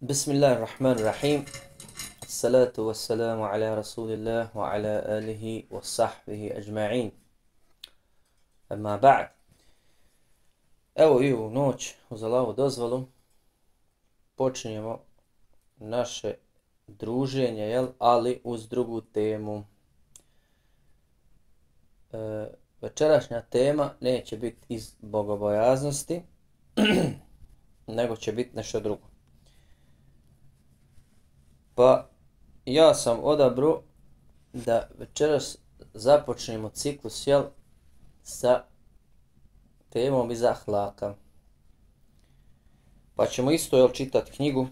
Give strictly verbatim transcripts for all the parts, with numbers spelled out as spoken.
Bismillahirrahmanirrahim. Salatu wassalamu ala rasulillah wa ala alihi wa sahbihi ajma'in. Amma ba'd. Evo i u noć, uz Allahovu dozvolu, počinjemo naše druženje, jel? Ali uz drugu temu. E, večerašnja tema neće biti iz bogobojaznosti, nego će biti nešto drugo. Pa ja sam odabrao da večeras započnemo ciklus, jel, sa temom iz ahlaka. Pa ćemo isto, jel, čitati knjigu.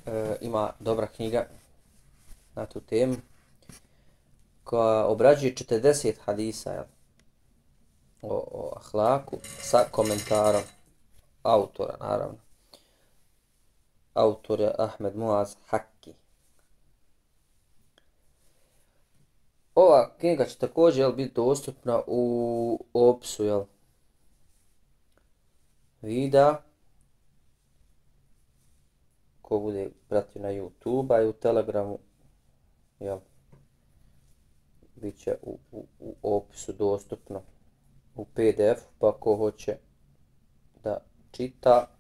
E, ima dobra knjiga na tu temu koja obrađuje četrdeset hadisa, jel, o, o ahlaku sa komentarom autora, naravno. Autor je Ahmed Muaz Hakki. Ova knjiga će također, jel, biti dostupna u opisu, jel, videa ko bude pratio na YouTube i u Telegramu, jel, bit će u, u, u opisu dostupno u P D F, pa ko hoće da čita,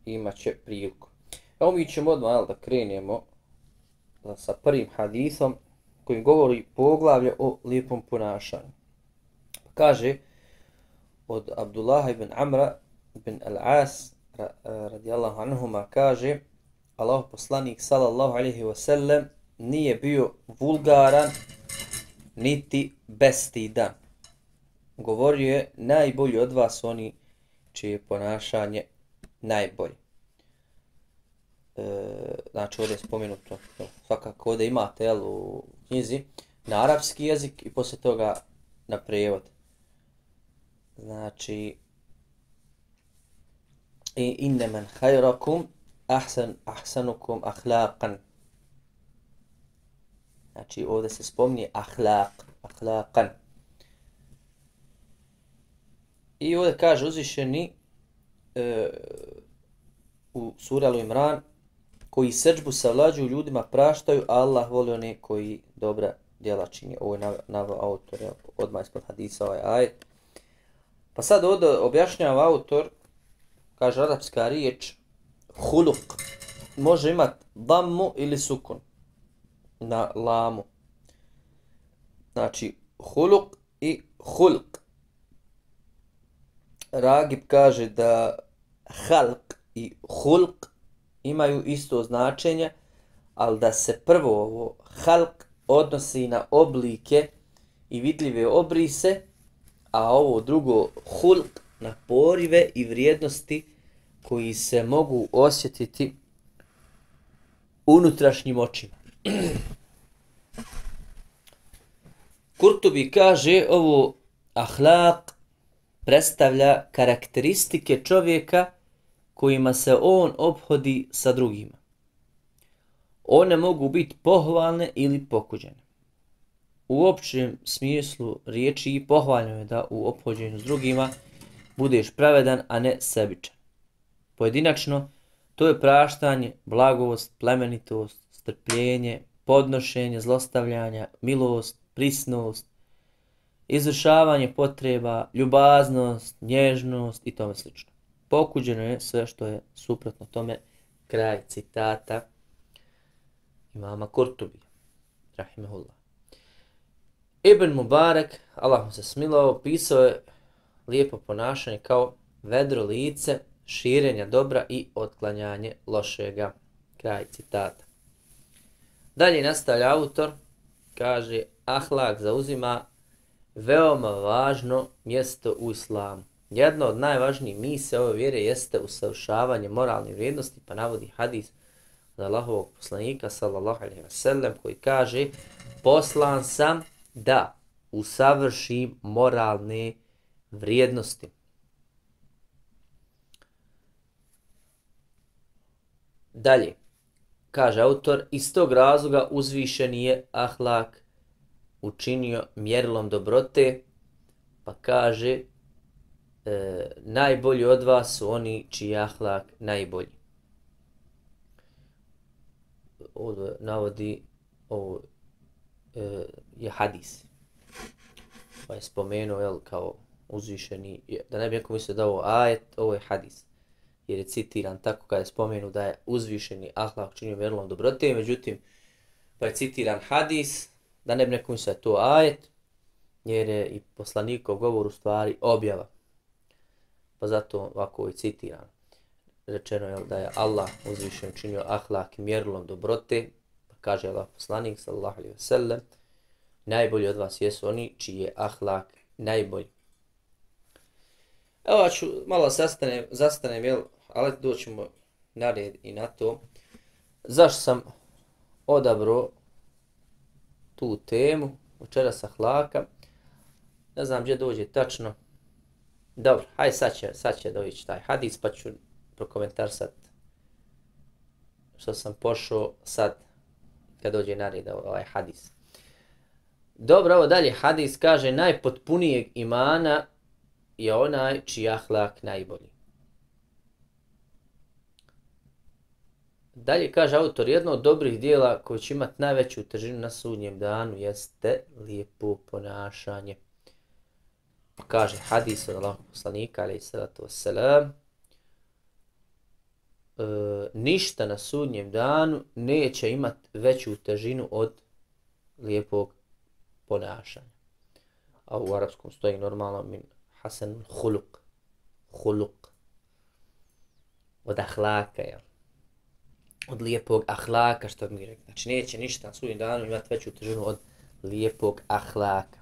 imat će priliku. Evo mi ćemo odmah, jel, da krenemo sa prvim hadisom koji govori poglavlje o lijepom ponašanju. Kaže od Abdullaha ibn Amra ibn al-As radijallahu anhuma, kaže Allahov poslanik sallallahu alejhi ve sellem nije bio vulgaran niti bestidan. Govorio je: najbolji od vas oni čije je ponašanje najbolji. E, znači ovdje je spomenuto, svakako ovdje imate, jel, u knjizi na arapski jezik i poslije toga na prijevod. Znači inne men hajrakum ahsan ahsanukum ahlaqan. Znači ovdje se spominje ahlaq, ahlaqan. I ovdje kaže uzvišeni e, u suri Al-Imran: koji srdžbu savlađuju ljudima praštaju, a Allah voli one koji dobra djela čini. Ovo je naveo autor, jel, odmah ispod hadisa ovaj ajet. Pa sad ovdje objašnjava autor, kaže arapska riječ huluk može imati dammu ili sukun na lamu. Znači huluk i hulk. Ragib kaže da halk i hulk imaju isto značenje, ali da se prvo ovo halk odnosi na oblike i vidljive obrise, a ovo drugo hulk na porive i vrijednosti koji se mogu osjetiti unutrašnjim očima. Kurtubi kaže ovo ahlak predstavlja karakteristike čovjeka kojima se on ophodi sa drugima. One mogu biti pohvalne ili pokuđene. U općem smislu riječi i pohvaljeno je da u ophođenju s drugima budeš pravedan, a ne sebičan. Pojedinačno, to je praštanje, blagost, plemenitost, strpljenje, podnošenje zlostavljanja, milost, prisnost, izvršavanje potreba, ljubaznost, nježnost i tome slično. Pokuđeno je sve što je suprotno tome. Kraj citata imama Kurtubi, rahimehullah. Ibn Mubarak, Allah mu se smilao, pisao je lijepo ponašanje kao vedro lice, širenja dobra i otklanjanje lošega. Kraj citata. Dalje nastavlja autor, kaže ahlak zauzima veoma važno mjesto u islamu. Jedna od najvažnijih misija ove vjere jeste usavršavanje moralnih vrijednosti, pa navodi hadis od Allahovog poslanika sallallahu alejhi ve sellem koji kaže: poslan sam da usavršim moralne vrijednosti. Dalje, kaže autor, iz tog razloga uzvišeni je ahlak učinio mjerilom dobrote, pa kaže e, najbolji od vas su oni čiji je ahlak najbolji. ovdje navodi ovo e, je hadis. Pa je spomenuo, jel, kao uzvišeni, da ne bi neko mislio da ovo ajet, ovo je hadis. Jer je citiran tako kada je spomenu da je uzvišeni ahlak činio mjerilom dobrote, međutim, pa je citiran hadis, da ne bi neko mislio da je to ajet, jer je i poslanikov govor u stvari objava. Pa zato ovako je citiran. Rečeno je da je Allah uzvišen činio ahlak mjerilom dobrote, pa kaže Allah poslanik sallallahu alejhi ve sellem, najbolji od vas jesu oni čiji je ahlak najbolji. Evo ću malo zastanem, zastanem jel, ali doćemo na red i na to. Zašto sam odabrao tu temu, večeras ahlaka, ne znam gdje dođe tačno. Dobro, hajde sad će, sad će doći taj hadis, pa ću prokomentarsat što sam pošao sad kad dođe na red ovaj hadis. Dobro, ovo dalje hadis kaže najpotpunijeg imana je onaj čiji ahlak najbolji. Dalje kaže autor, jedno od dobrih dijela koje će imati najveću težinu na sudnjem danu jeste lijepo ponašanje. Kaže hadis od Allahog poslanika, alejhi salatu vesselam, e, ništa na sudnjem danu neće imati veću težinu od lijepog ponašanja. A u arapskom stoji normalno min hasan huluk. Huluk. Od ahlaka, jel? Od lijepog ahlaka, što mi rekli. Znači neće ništa na sudnjem danu imati veću težinu od lijepog ahlaka.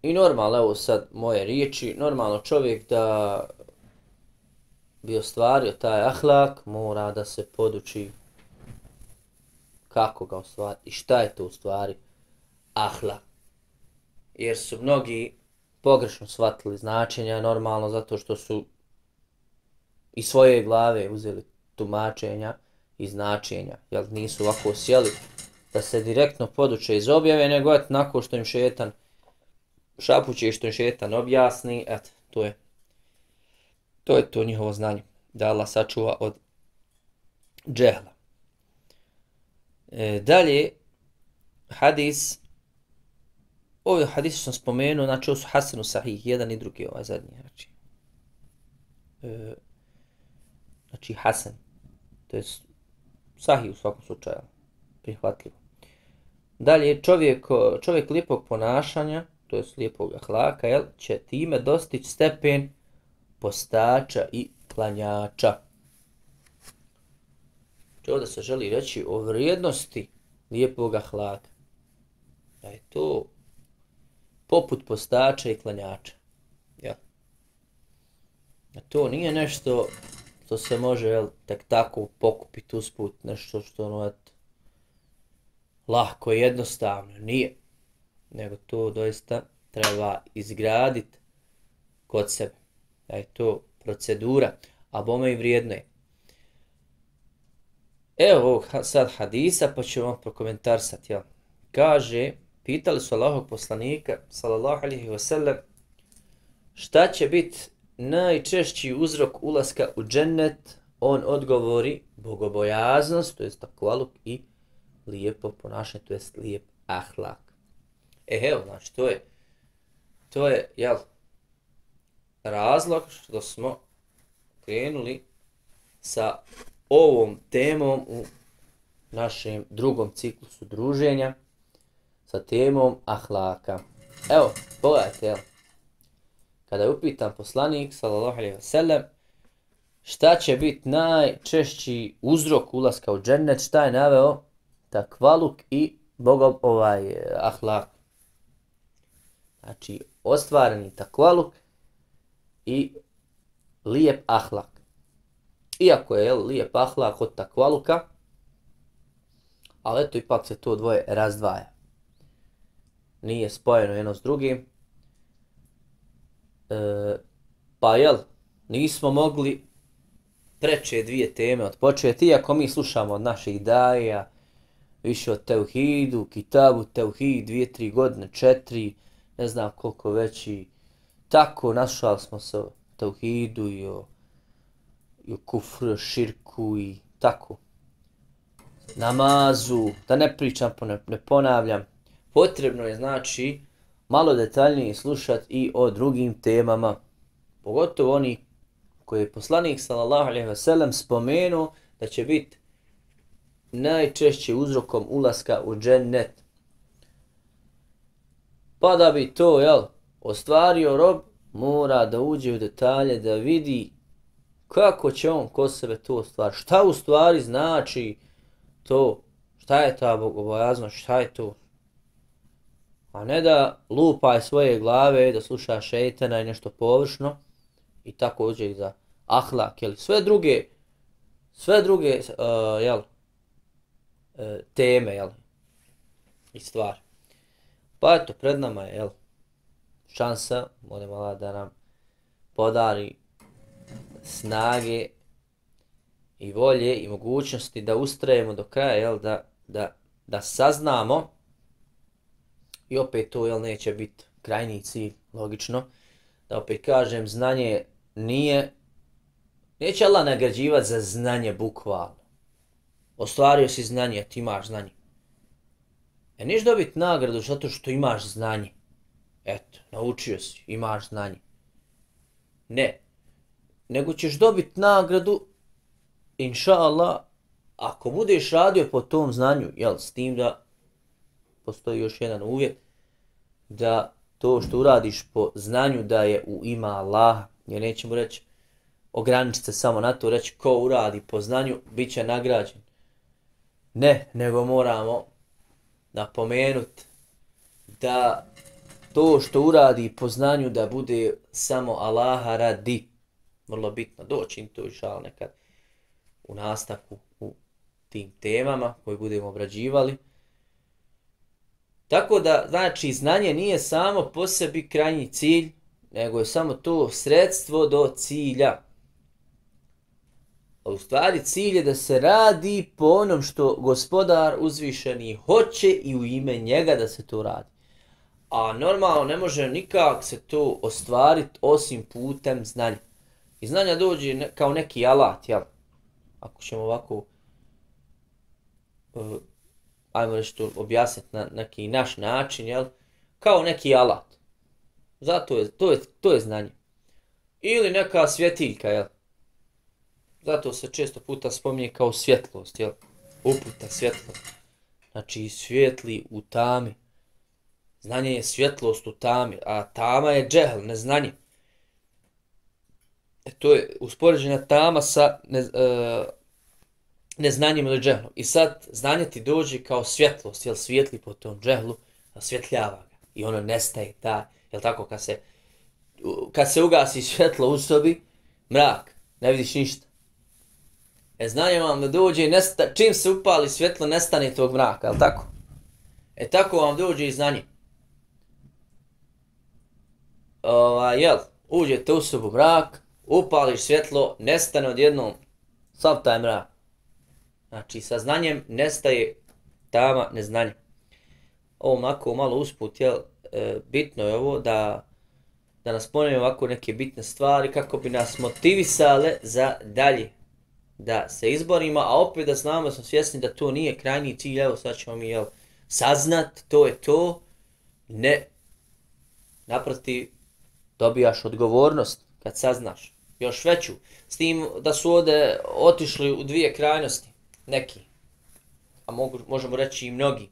I normalno, evo sad moje riječi, normalno čovjek da bi ostvario taj ahlak, mora da se poduči kako ga ostvariti i šta je to u stvari ahlak. Jer su mnogi pogrešno shvatili značenja, normalno zato što su iz svoje glave uzeli tumačenja i značenja, jer nisu ovako sjeli da se direktno poduče iz objave, nego et nakon što im šetan šapuće, što im šetan objasni, eto, to je to je to njihovo znanje, da Allah sačuva od džehla. E, dalje, hadis, ovaj hadis sam spomenuo, znači ovo su hasanu sahih, jedan i drugi ovaj zadnji, znači, e, znači hasan, to je sahih u svakom slučaju, prihvatljivo. Dalje, čovjek, čovjek lijepog ponašanja, to je lijepog ahlaka, jel, će time dostići stepen postača i klanjača. Ovdje se želi reći o vrijednosti lijepog ahlaka. Da je to poput postača i klanjača. Ja. A to nije nešto što se može, jel, tek tako pokupiti usput, nešto što ono et, lahko i jednostavno. Nije. Nego to doista treba izgraditi kod sebe. Da je to procedura, a bome i vrijedno je. Evo ovog sad hadisa, pa ću vam prokomentarsati. Ja. Kaže, pitali su Allahog poslanika, sallallahu alejhi ve sellem, šta će biti najčešći uzrok ulaska u džennet? On odgovori bogobojaznost, to jest takvaluk, i lijepo ponašanje, to jest lijep ahlak. E, evo, znači, to je, to je, jel, razlog što smo krenuli sa ovom temom u našem drugom ciklusu druženja, sa temom ahlaka. Evo, pogledajte, jel, kada je upitan poslanik, sallallahu alejhi ve sellem, šta će biti najčešći uzrok ulaska u džennet, šta je naveo? Takvaluk i bogom ovaj ahlak. Znači, ostvareni takvaluk i lijep ahlak. Iako je, jel, lijep ahlak od takvaluka, ali eto ipak se to dvoje razdvaja. Nije spojeno jedno s drugim. E, pa jel, nismo mogli preče dvije teme odpočeti, iako mi slušamo od naših daja, više o tevhidu, kitabu tevhid, dvije, tri godine, četiri, ne znam koliko već i tako našali smo se o tevhidu i o, i o kufru, širku i tako. Namazu, da ne pričam, ne, ne ponavljam. Potrebno je, znači, malo detaljnije slušati i o drugim temama. Pogotovo oni koje je poslanik sallallahu alejhi ve sellem spomenuo da će biti najčešće uzrokom ulaska u džennet. Pa da bi to, jel, ostvario rob, mora da uđe u detalje, da vidi kako će on kod sebe to ostvariti. Šta u stvari znači to, šta je ta bogobojaznost, šta je to. A ne da lupaj svoje glave, da sluša šejtana i nešto površno i tako uđe i za ahlak, jel, sve druge, sve druge, uh, jel, uh, teme, jel, i stvari. Pa eto, pred nama je, jel, šansa, molim Allah da nam podari snage i volje i mogućnosti da ustrajemo do kraja, jel, da, da, da saznamo i opet to, jel, neće biti krajnji cilj, logično, da opet kažem, znanje nije, neće Allah nagrađivati za znanje bukvalno. Ostvario si znanje, ti imaš znanje. E niš dobiti nagradu zato što imaš znanje. Eto, naučio si, imaš znanje. Ne. Nego ćeš dobiti nagradu, inša Allah, ako budeš radio po tom znanju, jel, s tim da postoji još jedan uvjet, da to što uradiš po znanju da je u ima Allaha, jer nećemo reći, ograničiti se samo na to, reći ko uradi po znanju, bit će nagrađen. Ne, nego moramo napomenuti da to što uradi po znanju da bude samo Allaha radi. Vrlo bitno, doći im to inša Allah nekad u nastavku u tim temama koje budemo obrađivali. Tako da, znači, znanje nije samo po sebi krajnji cilj, nego je samo to sredstvo do cilja. A u stvari cilj je da se radi po onom što gospodar uzvišeni hoće i u ime njega da se to radi. A normalno ne može nikak se to ostvariti osim putem znanja. I znanja dođe ne, kao neki alat, jel? Ako ćemo ovako, uh, ajmo reći to objasniti na neki naš način, jel? Kao neki alat. Zato je, to je, to je znanje. Ili neka svjetiljka, jel? Zato se često puta spominje kao svjetlost, jel? Uputa, svjetlost. Znači, svjetli u tami. Znanje je svjetlost u tami, a tama je džehl, neznanje. E, to je uspoređena tama sa ne, e, neznanjem ili džehlom. I sad znanje ti dođe kao svjetlost, jel, svijetli po tom džehlu, osvjetljava ga. I ono nestaje, ta, jel tako, kad se, kad se ugasi svjetlo u sobi, mrak, ne vidiš ništa. E, znanje vam da dođe, nesta, čim se upali svjetlo, nestane tog mraka, jel tako? E, tako vam dođe i znanje. Ova, jel, uđete u sobu mrak, upališ svjetlo, nestane odjednom sav taj mrak. Znači, sa znanjem nestaje tama neznanje. Ovo mako malo usput, jel, e, bitno je ovo da, da nas ponavljamo ovako neke bitne stvari kako bi nas motivisale za dalje. Da se izborimo, a opet da znamo, da smo svjesni da to nije krajnji cilj, evo sad ćemo mi, jel, saznat, to je to. Ne. Naprotiv, dobijaš odgovornost kad saznaš. Još veću. S tim da su ovdje otišli u dvije krajnosti. Neki. A mogu, možemo reći i mnogi.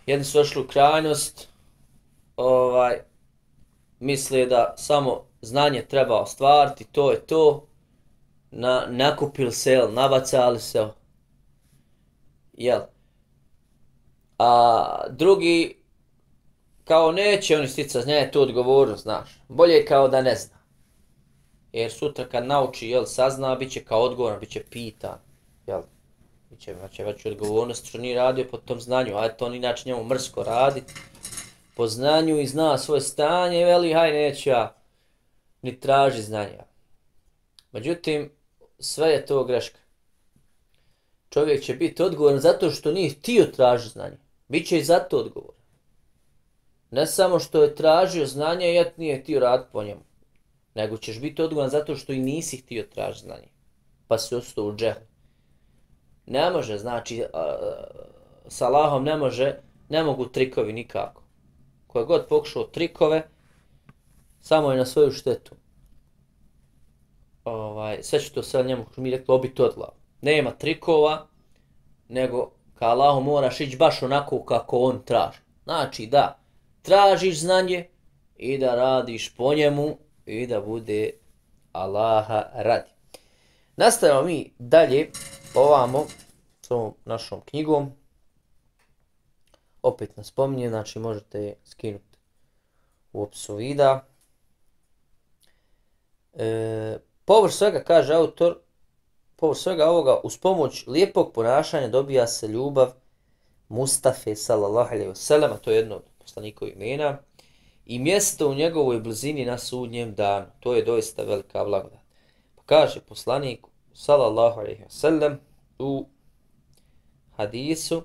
Jedni su ošli u krajnost, ovaj, misle da samo znanje treba ostvariti, to je to. Na, nakupili se, jel, nabacali se. Jel. A drugi, kao neće oni sticati, znanje, to odgovornost, znaš. Bolje je kao da ne zna. Jer sutra kad nauči, jel, sazna, bit će kao odgovoran, bit će pitan, jel. Biće, će već odgovornost što nije radio po tom znanju, a to on inače njemu mrsko radi. Po znanju i zna svoje stanje, veli, haj, neću ja ni traži znanja. Međutim, sve je to greška. Čovjek će biti odgovoran zato što nije htio tražiti znanje. Biće i zato odgovoran. Ne samo što je tražio znanje, jer nije htio raditi po njemu. Nego ćeš biti odgovoran zato što i nisi htio tražiti znanje. pa si ostao u džehlu. Ne može, znači, a, s Allahom ne može, ne mogu trikovi nikako. Ko je god pokušao trikove, samo je na svoju štetu. Ovaj, sve će to sve njemu, što mi rekli, obiti od glavu. Nema trikova, nego ka Allahu moraš ići baš onako kako on traži. Znači da tražiš znanje i da radiš po njemu i da bude Allaha radi. Nastavimo mi dalje ovamo s ovom našom knjigom. Opet nas spominje, znači možete je skinuti u opisu videa. E, površ svega, kaže autor, površ svega ovoga, uz pomoć lijepog ponašanja dobija se ljubav Mustafe sallallahu alejhi ve sellem, to je jedno od poslanikovih imena, i mjesto u njegovoj blizini na sudnjem danu. To je doista velika blagodat. Pa kaže poslanik sallallahu alejhi ve sellem u hadisu: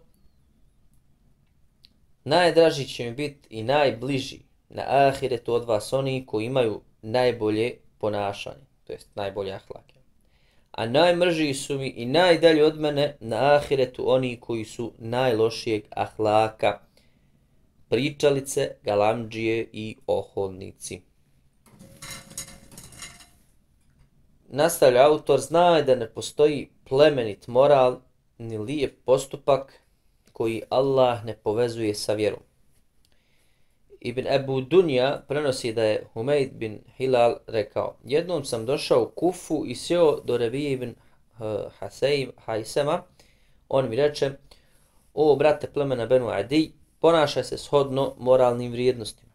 najdraži će mi biti i najbliži na ahiretu od vas oni koji imaju najbolje ponašanje, to jest najbolje ahlake. A najmržiji su mi i najdalje od mene na ahiretu oni koji su najlošijeg ahlaka, pričalice, galamdžije i oholnici. Nastavlja autor, zna da ne postoji plemenit moral ni lijep postupak koji Allah ne povezuje sa vjerom. Ibn Ebu Dunja prenosi da je Humeid bin Hilal rekao: jednom sam došao u Kufu i sjeo do Rebije ibn Hajsema. On mi reče: o brate plemena Benu Adi, ponašaj se shodno moralnim vrijednostima,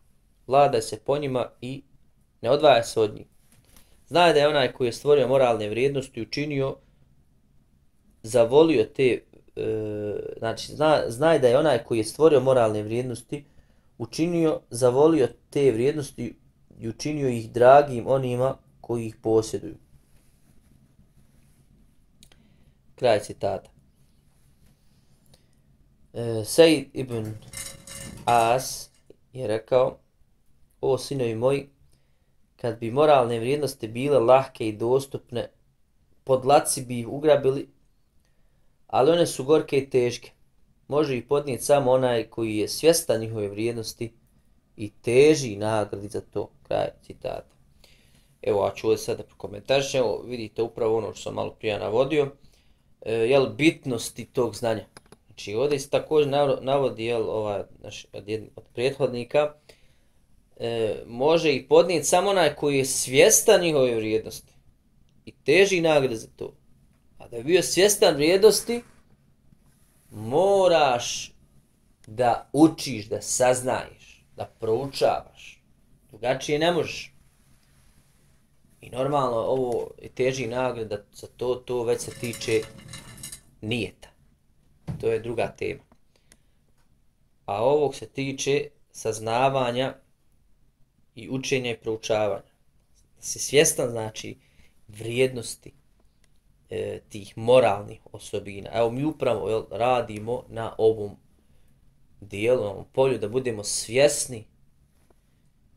vladaj se po njima i ne odvaja se od njih. Znaj da je onaj koji je stvorio moralne vrijednosti učinio, zavolio te, e, znači zna, znaj da je onaj koji je stvorio moralne vrijednosti učinio, zavolio te vrijednosti i učinio ih dragim onima koji ih posjeduju. Kraj citata. E, Sejd ibn As je rekao: o sinovi moji, kad bi moralne vrijednosti bile lahke i dostupne, podlaci bi ih ugrabili, ali one su gorke i teške. Može ih podnijeti samo onaj koji je svjestan njihove vrijednosti i teži nagradi za to. Kraj citata. Evo, a ću ovdje sada prokomentarišem. Evo, vidite upravo ono što sam malo prije navodio. E, jel, bitnosti tog znanja. Znači, ovdje se također navodi, jel, ovaj, naš, od, jedn, od prethodnika, e, može ih podnijeti samo onaj koji je svjestan njihove vrijednosti i teži nagrade za to. A da je bio svjestan vrijednosti, moraš da učiš, da saznaješ, da proučavaš. Drugačije ne možeš. I normalno ovo je teži nagrada za to, to već se tiče nijeta. To je druga tema. A ovog se tiče saznavanja i učenja i proučavanja. Da si svjestan, znači, vrijednosti e, tih moralnih osobina. Evo mi upravo jel, radimo na ovom dijelu, na ovom polju, da budemo svjesni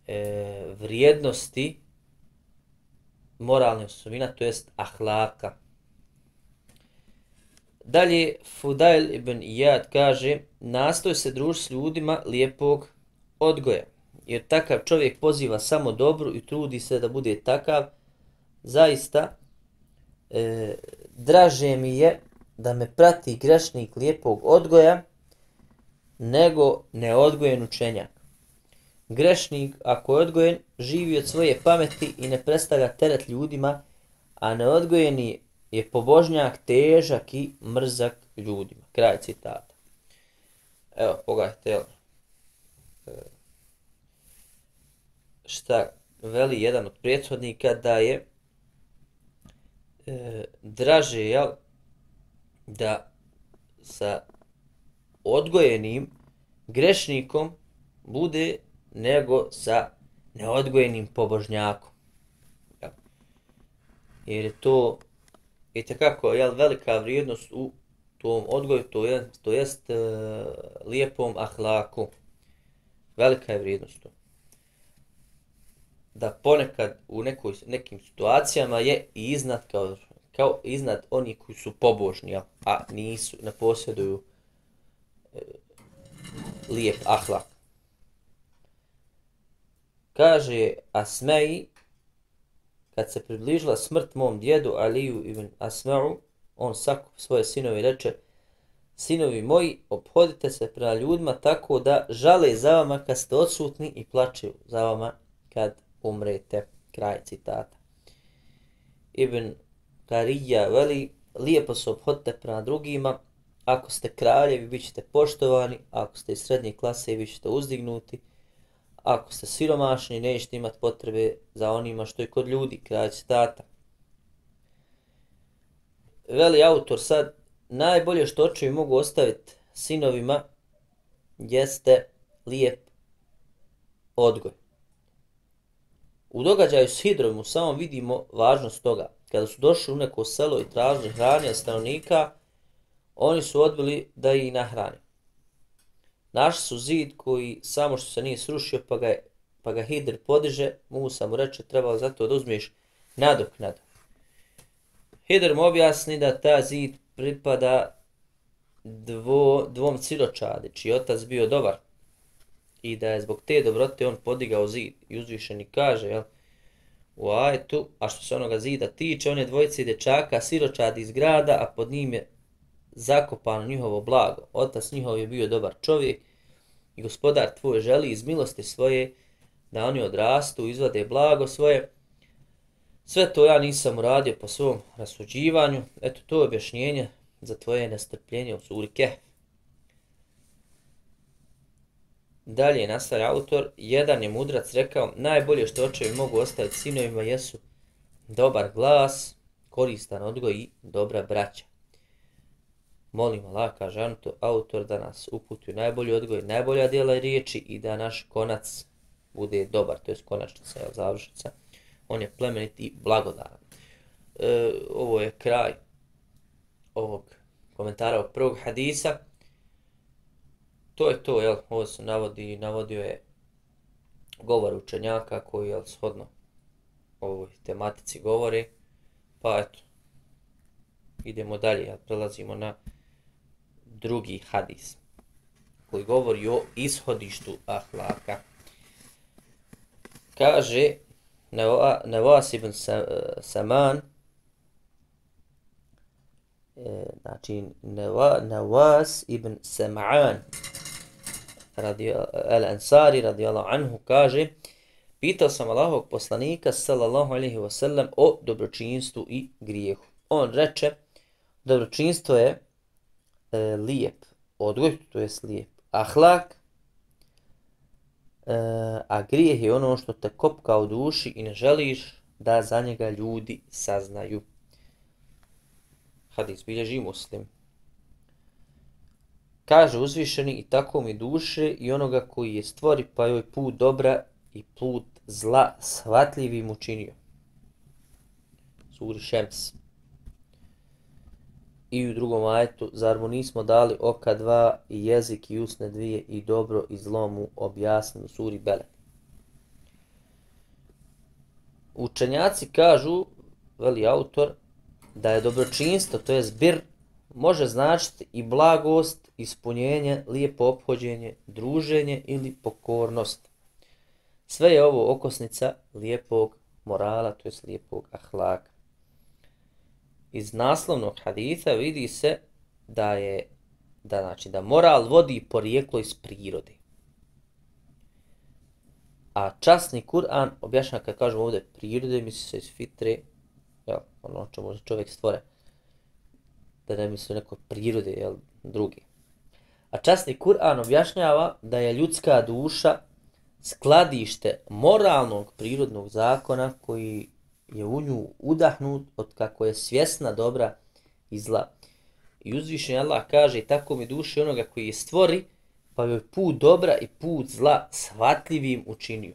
e, vrijednosti moralnih osobina, to jest ahlaka. Dalje, Fudail ibn Iyad kaže: nastoj se družiti s ljudima lijepog odgoja, jer takav čovjek poziva samo dobru i trudi se da bude takav. Zaista, e, draže mi je da me prati grešnik lijepog odgoja, nego neodgojen učenjak. Grešnik, ako je odgojen, živi od svoje pameti i ne predstavlja teret ljudima, a neodgojeni je pobožnjak, težak i mrzak ljudima. Kraj citata. Evo, pogledajte, šta veli jedan od prethodnika, da je e, draže, jel, da sa odgojenim grešnikom bude nego sa neodgojenim pobožnjakom. Jel? Jer je to itekako, jel, velika vrijednost u tom odgoju, to je, to jest e, lijepom ahlaku. Velika je vrijednost to. Da ponekad u nekoj, nekim situacijama je i iznad, kao, kao iznad onih koji su pobožni, a nisu, ne posjeduju e, lijep ahlak. Kaže Asmeji, kad se približila smrt mom djedu Aliju ibn Asma'u, on sakup svoje sinove i reče: sinovi moji, ophodite se prema ljudima tako da žale za vama kad ste odsutni i plačeju za vama kad umrete. Kraj citata. Ibn Karija veli: lijepo se ophodite prema drugima, ako ste kraljevi bit ćete poštovani, ako ste iz srednje klase bit ćete uzdignuti, ako ste siromašni nećete imati potrebe za onima što je kod ljudi. Kraj citata. Veli autor sad, najbolje što očevi mogu ostaviti sinovima jeste lijep odgoj. U događaju s Hidrom u samom vidimo važnost toga. Kada su došli u neko selo i tražili hrane od stanovnika, oni su odbili da ih nahrane. Našli su zid koji samo što se nije srušio, pa ga, pa ga Hidr podiže. Musa mu reče: trebalo zato da uzmeš nadoknadu. Hidr mu objasni da ta zid pripada dvo, dvom siročadi, čiji otac bio dobar, i da je zbog te dobrote on podigao zid. I uzvišeni kaže, jel, u ajetu: a što se onoga zida tiče, on je dvojice dječaka siročadi iz grada, a pod njim je zakopano njihovo blago. Otac njihov je bio dobar čovjek i gospodar tvoj želi iz milosti svoje da oni odrastu, izvade blago svoje. Sve to ja nisam uradio po svom rasuđivanju. Eto, to je objašnjenje za tvoje nestrpljenje u suri Kehf. Dalje nastavlja autor: jedan je mudrac rekao: najbolje što očevi mogu ostaviti sinovima jesu dobar glas, koristan odgoj i dobra braća. Molim Allah, kaže autor, da nas uputi u najbolji odgoj, najbolja djela i riječi i da naš konac bude dobar, to je konačnica, je završnica. On je plemenit i blagodaran. E, ovo je kraj ovog komentara ovog prvog hadisa. To je to, jel, ovo se navodi, navodio je govor učenjaka koji, jel, shodno ovoj tematici govori. Pa eto, idemo dalje, jel, prelazimo na drugi hadis koji govori o ishodištu ahlaka. Kaže Nevas ibn Saman, znači Nevas ibn Sam'an al-Ansari radijallahu anhu kaže: pitao sam Allahovog poslanika sallallahu alejhi ve sellem o dobročinstvu i grijehu. On reče: dobročinstvo je e, lijep odgoj, to je lijep ahlak, e, a grijeh je ono što te kopka u duši i ne želiš da za njega ljudi saznaju. Hadis bilježi Muslim. Kaže uzvišeni: i tako mi duše i onoga koji je stvori pa joj put dobra i put zla shvatljivim učinio. Suri Šems. I u drugom ajetu: zar mu nismo dali oka dva i jezik i usne dvije i dobro i zlo mu objasnili. Suri Beled. Učenjaci kažu, veli autor, da je dobročinstvo, to je zbir, može značiti i blagost, ispunjenje, lijepo ophođenje, druženje ili pokornost. Sve je ovo okosnica lijepog morala, to je lijepog ahlaka. Iz naslovnog haditha vidi se da je da znači da moral vodi porijeklo iz prirode. A časni Kur'an objašnjava, kad kažemo ovdje prirode, misli se iz fitre, ja, ono čemu čovjek stvore, da ne misli neko prirode, jel, drugi. A časni Kur'an objašnjava da je ljudska duša skladište moralnog prirodnog zakona koji je u nju udahnut od kako je svjesna dobra i zla. I uzvišeni Allah kaže: i tako mi duše onoga koji je stvori pa joj put dobra i put zla shvatljivim učinio.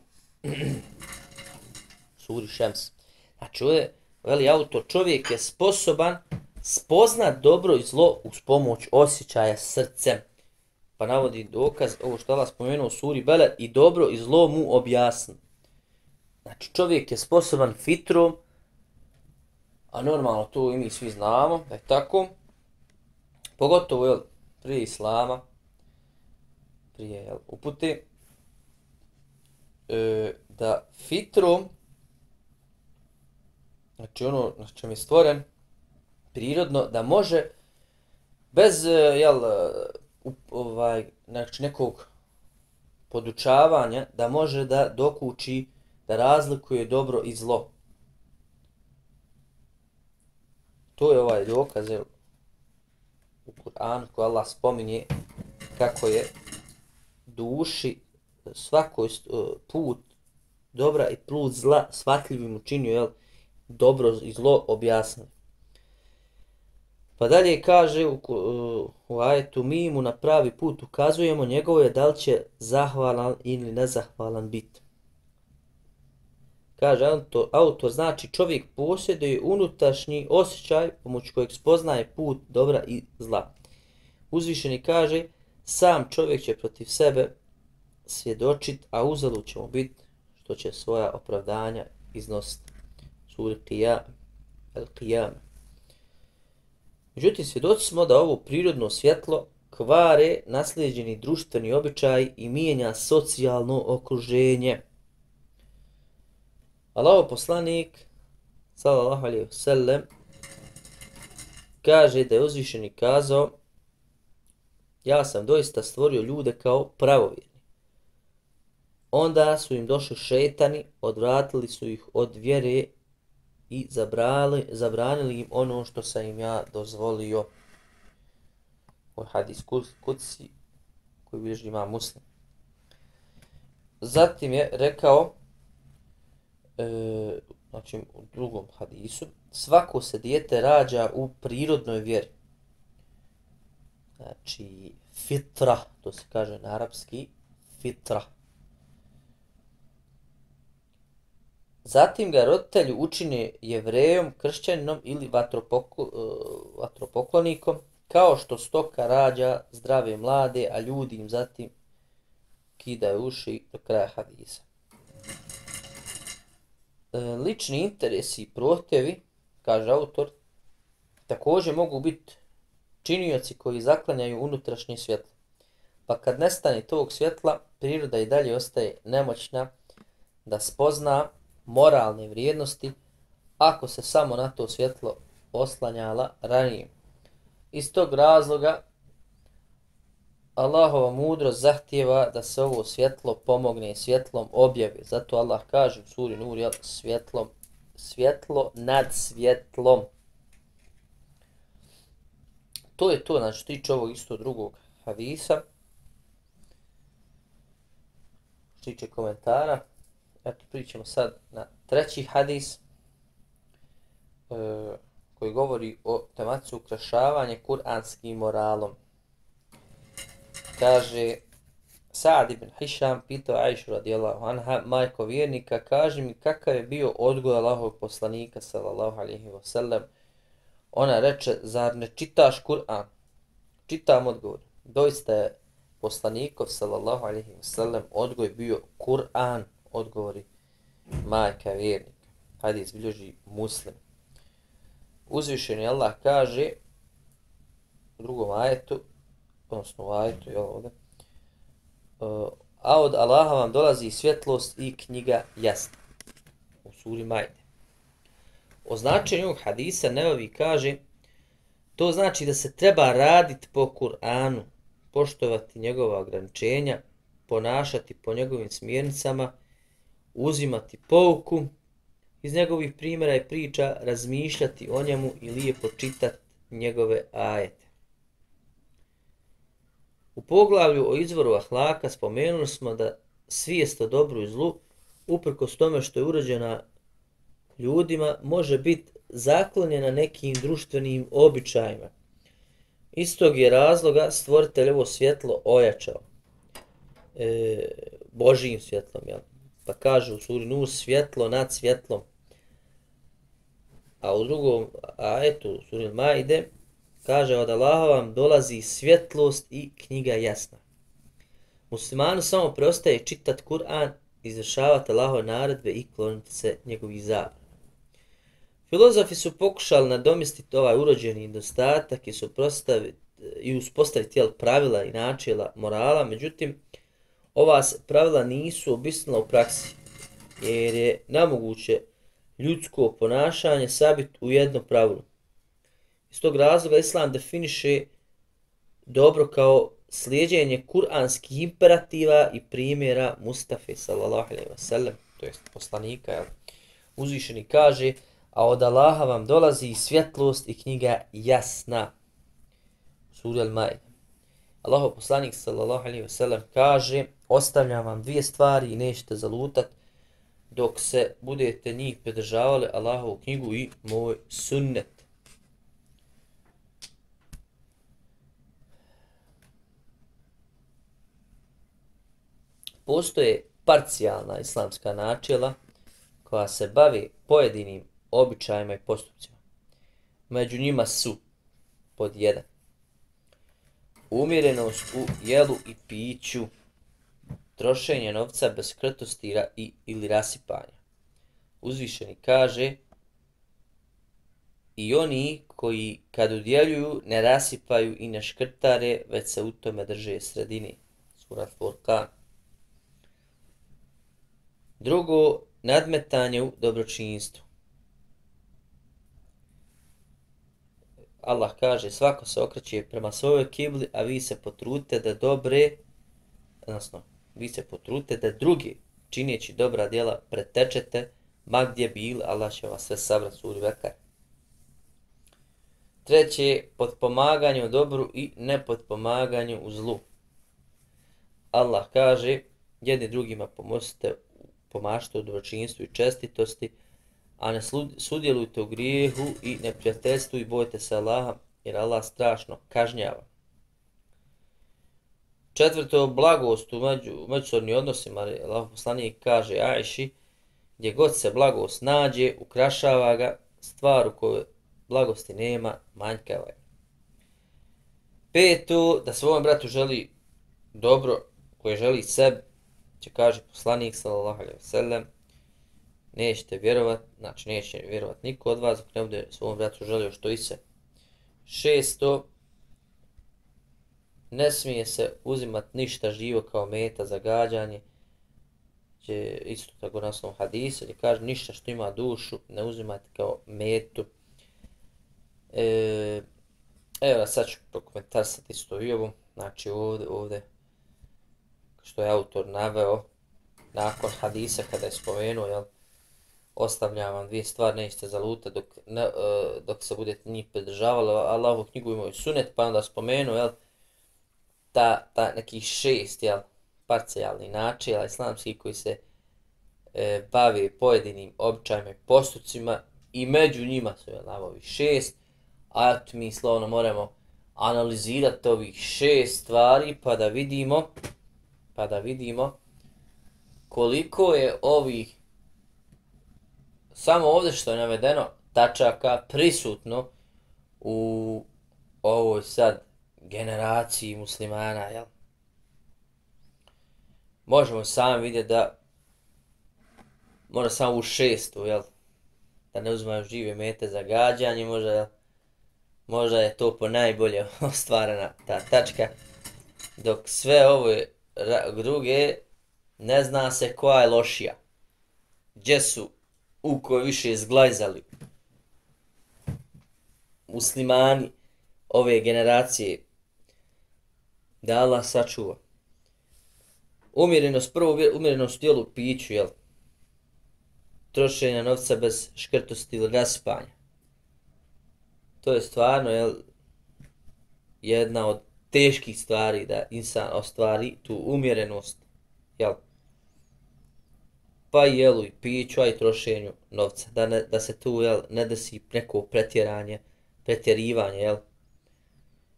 Suri Šems. Znači ovdje, veli autor, čovjek je sposoban spoznat dobro i zlo uz pomoć osjećaja srcem. Pa navodi dokaz, ovo što Allah spomenuo u suri Beled, i dobro i zlo mu objasni. Znači čovjek je sposoban fitrom A normalno to i mi svi znamo da je tako. Pogotovo jel, prije Islama, prije jel, upute, e, da fitrom, znači ono na čem je stvoren, prirodno, da može bez jel, ovaj, znači nekog podučavanja, da može da dokuči, da razlikuje dobro i zlo. To je ovaj dokaz jel, u Kur'anu koji Allah spominje kako je duši svakoj put dobra i put zla shvatljivim učinio, jel, dobro i zlo objasnili. Pa dalje kaže u, u ajetu, mi mu na pravi put ukazujemo, njegovo je da li će zahvalan ili nezahvalan biti. Kaže autor, autor, znači čovjek posjeduje unutrašnji osjećaj pomoću kojeg spoznaje put dobra i zla. Uzvišeni kaže, sam čovjek će protiv sebe svjedočit, a uzalud će mu biti što će svoja opravdanja iznositi. Sura Al-Qiyam. Međutim, svjedoci smo da ovo prirodno svjetlo kvare naslijeđeni društveni običaj i mijenja socijalno okruženje. Allahov poslanik, sallallahu alejhi ve sellem, kaže da je uzvišeni kazao, ja sam doista stvorio ljude kao pravovjerni. Onda su im došli šejtani, odvratili su ih od vjere i zabrali, zabranili im ono što sam im ja dozvolio. Ovo hadis kudsi koji bilježi Imam Muslim. Zatim je rekao, e, znači u drugom hadisu, svako se dijete rađa u prirodnoj vjeri. Znači fitra, to se kaže na arapski, fitra. Zatim ga roditelji učine jevrejom, kršćaninom ili vatropokl, vatropoklonikom, kao što stoka rađa zdrave mlade, a ljudi im zatim kidaju uši do kraja hadisa. Lični interesi i prohtjevi, kaže autor, također mogu biti činioci koji zaklanjaju unutrašnje svjetlo. Pa kad nestane tog svjetla, priroda i dalje ostaje nemoćna da spozna moralne vrijednosti ako se samo na to svjetlo oslanjala ranije. Iz tog razloga Allahova mudrost zahtijeva da se ovo svjetlo pomogne svjetlom objave. Zato Allah kaže u suri Nur, jel, svjetlom, svjetlo nad svjetlom. To je to, znači tiče ovog isto drugog hadisa. Tiče komentara. Eto, pričamo sad na treći hadis e, koji govori o tematici ukrašavanja kuranskim moralom. Kaže, Sa'd ibn Hišam pitao Aishu radijallahu anha, majko vjernika, kaže mi kakav je bio odgoj Allahovog poslanika sallallahu alejhi ve sellem. Ona reče, zar ne čitaš Kur'an? Čitam, odgovor. Doista je poslanikov sallallahu alejhi ve sellem odgoj bio Kur'an, odgovori majka vjernika. Hadis bilježi Muslim. Uzvišeni Allah kaže u drugom ajetu, odnosno u ajetu, jel ovdje, a od Allaha vam dolazi svjetlost i knjiga jasna. U suri Majde. O značenju ovog hadisa Nevevi kaže, to znači da se treba raditi po Kur'anu, poštovati njegova ograničenja, ponašati po njegovim smjernicama, uzimati pouku iz njegovih primjera i priča, razmišljati o njemu i lijepo čitati njegove ajete. U poglavlju o izvoru ahlaka spomenuli smo da svijest o dobru i zlu, uprkos tome što je urađena ljudima, može biti zaklonjena nekim društvenim običajima. Iz tog je razloga stvoritelj ovo svjetlo ojačao e, Božijim svjetlom, jel? Pa kaže u suri Nur, svjetlo nad svjetlom. A u drugom ajetu, u suri Majde, kaže od Allaha vam dolazi svjetlost i knjiga jasna. Muslimanu samo preostaje čitati Kur'an, izvršavati Allahove naredbe i kloniti se njegovih zabrana. Filozofi su pokušali nadomjestiti ovaj urođeni nedostatak i suprotstaviti i uspostaviti jel, pravila i načela morala, međutim, ova se pravila nisu obistinila u praksi, jer je nemoguće ljudsko ponašanje sabiti u jednom pravilu. Iz tog razloga Islam definiše dobro kao slijeđenje kuranskih imperativa i primjera Mustafe sallallahu alejhi ve sellem, to jest poslanika, jel? Uzvišeni kaže: a od Allaha vam dolazi svjetlost i knjiga jasna. Sura Al-Maide. Allahov poslanik sallallahu alejhi ve sellem kaže: ostavljam vam dvije stvari i nećete zalutat dok se budete njih pridržavali, Allahovu knjigu i moj sunnet. Postoje parcijalna islamska načela koja se bavi pojedinim običajima i postupcima. Među njima su pod jedan. Umjerenost u jelu i piću, trošenje novca bez krtosti i, ili rasipanja. Uzvišeni kaže: i oni koji kad udjeljuju ne rasipaju i ne škrtare, već se u tome drže sredine. Sura Furqan. Drugo, nadmetanje u dobročinstvu. Allah kaže: svako se okreće prema svojoj kibli, a vi se potrudite da dobre, odnosno, vi se potrudite da drugi, čineći dobra djela, pretečete, ma gdje bili, Allah će vas sve sabrati, suri Bekar. Treće, potpomaganje u dobru i nepotpomaganje u zlu. Allah kaže: jedni drugima pomozite, pomažite u dobročinstvu i čestitosti, a ne sudjelujte u grijehu i neprijateljstvu i bojte se Allaha, jer Allah strašno kažnjava. Četvrto, blagost u među, međusobnim odnosima. Allah poslanik kaže Ajši: gdje god se blagost nađe, ukrašava ga, stvar u kojoj blagosti nema, manjkava je. Peto, da svom bratu želi dobro koje želi sebi, će kaže poslanik sallallahu alejhi ve sellem: nećete vjerovat, znači neće vjerovat niko od vas dok ne bude svom bratu želio što i se. Šesto, ne smije se uzimat ništa živo kao meta za gađanje, će isto tako na osnovu hadisa, gdje kaže: ništa što ima dušu ne uzimate kao metu. E, evo sad ću prokomentarisati isto i ovu, znači ovdje, ovdje što je autor naveo nakon hadisa kada je spomenuo, jel, ostavljam vam dvije stvari, nećete zalutati dok, ne, uh, dok se budete njih pridržavali, Allahovu knjigu imaju sunet, pa onda spomenuo, jel, ta, ta nekih šest, jel, parcijalni načela islamskih koji se e, bavi pojedinim običajima i postupcima i među njima su, jel, ovi šest, a mi slovno moramo analizirati ovih šest stvari pa da vidimo pa da vidimo koliko je ovih, samo ovdje što je navedeno, tačaka prisutno u ovoj sad generaciji muslimana, jel? Možemo sami vidjeti da mora samo u šestu, jel? Da ne uzmaju žive mete za gađanje, možda, jel? Možda je to po najbolje ostvarena ta tačka, dok sve ove druge ne zna se koja je lošija. Gdje su u kojoj više zglajzali muslimani ove generacije, da Allah sačuva. Umjerenost, prvo umjerenost u djelu piću, jel? Trošenja novca bez škrtosti ili raspanja. To je stvarno, jel, jedna od teških stvari da insan ostvari tu umjerenost, jel? Pa i jelu i piću, a i trošenju novca. Da, ne, da se tu, jel, ne desi neko pretjeranje, pretjerivanje, jel?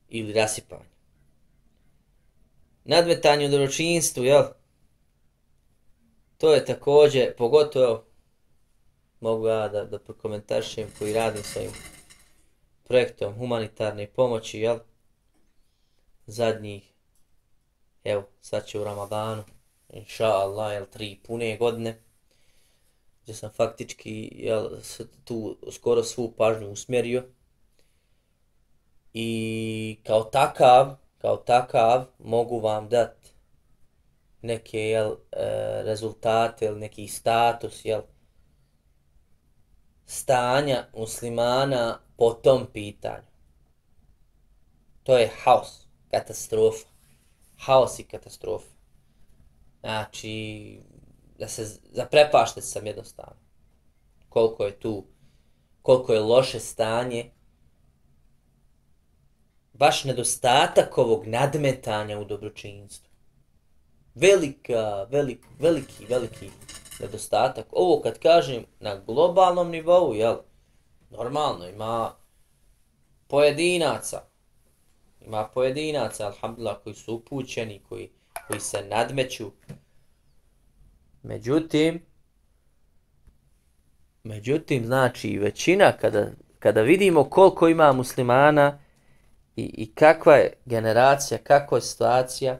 Ili rasipanje. Nadmetanje u dobročinstvu, jel? To je također, pogotovo, mogu ja da, da prokomentarišem koji radim sa ovim projektom humanitarne pomoći, jel? Zadnjih, evo, sad će u Ramadanu, inša Allah, jel, tri pune godine. gdje sam faktički jel, tu skoro svu pažnju usmjerio. I kao takav, kao takav mogu vam dati neke jel, rezultate ili neki status jel, stanja muslimana po tom pitanju. To je haos, katastrofa. Haos i katastrofa. Znači, da se zaprepašten sam jednostavno. Koliko je tu, koliko je loše stanje. Baš nedostatak ovog nadmetanja u dobročinstvu. Velika, velik, veliki, veliki nedostatak. Ovo kad kažem na globalnom nivou, jel, normalno ima pojedinaca. Ima pojedinaca, alhamdulillah, koji su upućeni, koji, koji se nadmeću. Međutim, međutim, znači, većina, kada, kada vidimo koliko ima muslimana i, i kakva je generacija, kakva je situacija,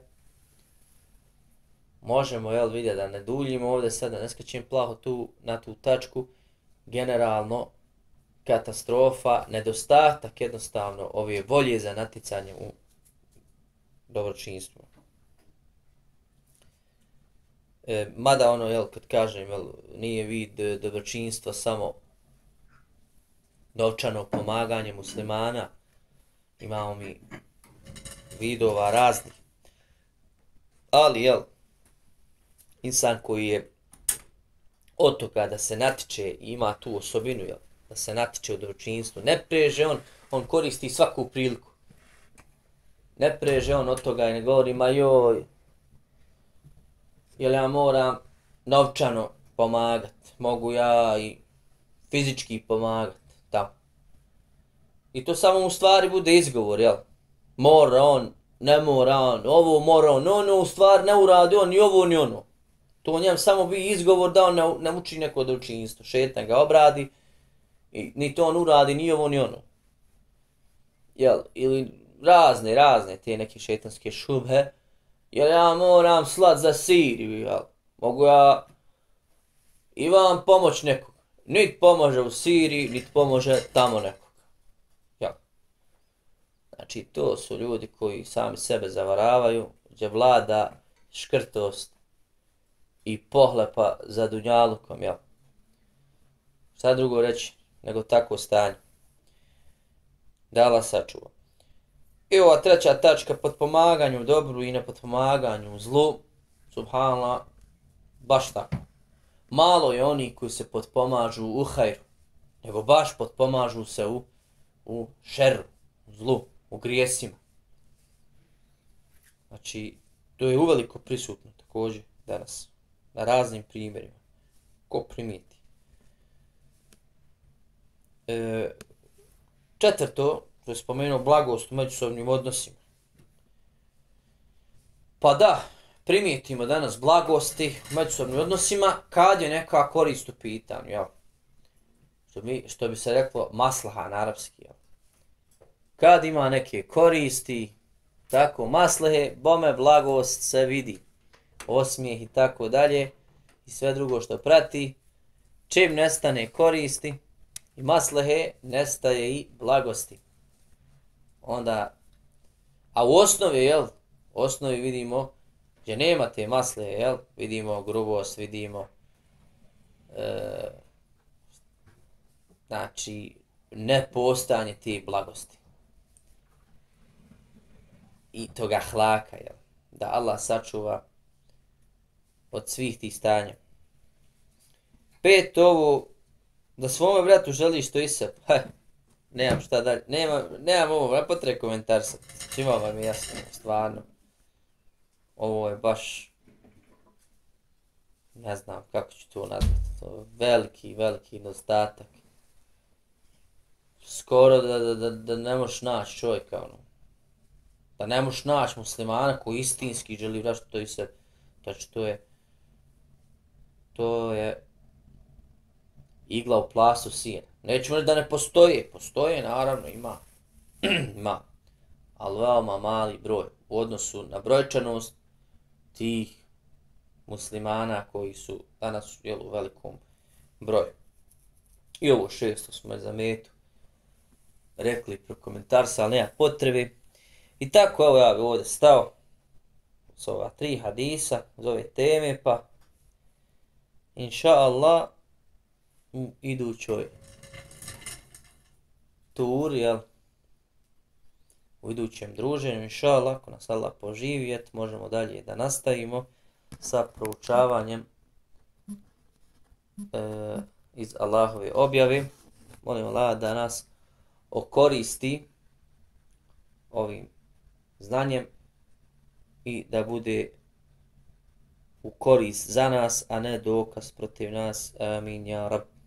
možemo, jel, vidjeti da ne duljimo ovdje sad, da ne skačem plaho tu, na tu tačku, generalno, katastrofa, nedostatak jednostavno ove volje za naticanje u dobročinstvu. E, mada ono, jel, kad kažem, jel, nije vid dobročinstva samo novčano pomaganje muslimana, imamo mi vidova raznih. Ali, jel, insan koji je od toga da se natiče, ima tu osobinu, jel, da se natiče u dobročinstvu, ne preže on, on koristi svaku priliku. Ne preže on od toga i ne govori, ma joj, jel ja moram novčano pomagat, mogu ja i fizički pomagat, tamo. I to samo u stvari bude izgovor, jel? Mora on, ne mora on, ovo mora on, ono u stvari ne uradi on ni ovo ni ono. To njem samo bi izgovor da on ne, ne uči neko dobročinstvo, šetan ga obradi, i ni to on uradi ni ovo ni ono. Jel? Ili razne, razne te neke šetanske šubhe, jer ja moram slat za Siriju, jel? Mogu ja i vam pomoć nekog. Nit pomože u Siriji, nit pomože tamo nekog. Jel? Znači, to su ljudi koji sami sebe zavaravaju, gdje vlada škrtost i pohlepa za dunjalukom, jel? Šta drugo reći nego takvo stanje? Da Allah sačuva. I ova treća tačka, potpomaganju dobru i nepotpomaganju zlu, subhanallah, baš tako. Malo je oni koji se potpomažu u hajru, nego baš potpomažu se u, u šerru, u zlu, u grijesima. Znači, to je uveliko prisutno također danas, na raznim primjerima. Ko primijeti? E, četvrto, što je spomenuo blagost u međusobnim odnosima. Pa da, primijetimo danas blagosti u međusobnim odnosima kad je neka korist u pitanju, jel? Što bi, što bi se reklo maslaha na arapski, jel? Kad ima neke koristi, tako maslehe, bome blagost se vidi, osmijeh i tako dalje i sve drugo što prati. Čim nestane koristi i maslehe, nestaje i blagosti. Onda, a u osnovi, jel, u osnovi vidimo gdje nema te maslehe, jel, vidimo grubost, vidimo e, znači nepostojanje te blagosti i toga hlaka, jel, da Allah sačuva od svih tih stanja. Pet, ovo, da svome bratu želiš to i sebe, heh, nemam šta dalje, nemam, nemam ovo, ne potrebe komentarsati, svima vam je jasno, stvarno. Ovo je baš, ne znam kako ću to nazvati, to je veliki, veliki nedostatak. Skoro da, da, da, da ne možeš naći čovjeka, ono. Da ne možeš naći muslimana koji istinski želi vraćati to i sebe. Znači, to je, to je igla u plastu sina. Nećemo reći da ne postoje, postoje, naravno, ima, ima, ali veoma mali broj u odnosu na brojčanost tih muslimana koji su danas jel, u velikom broj. I ovo šesto smo je za metu rekli prokomentarsali, ali nema potrebe. I tako, evo ja bi ovdje stao s ova tri hadisa, z ove teme, pa inša Allah u idućoj turi, jel, u idućem druženju, inša Allah, ako nas Allah poživjet, možemo dalje da nastavimo sa proučavanjem e, iz Allahove objave. Molim Allah da nas okoristi ovim znanjem i da bude u korist za nas, a ne dokaz protiv nas. Amin, ja Rab.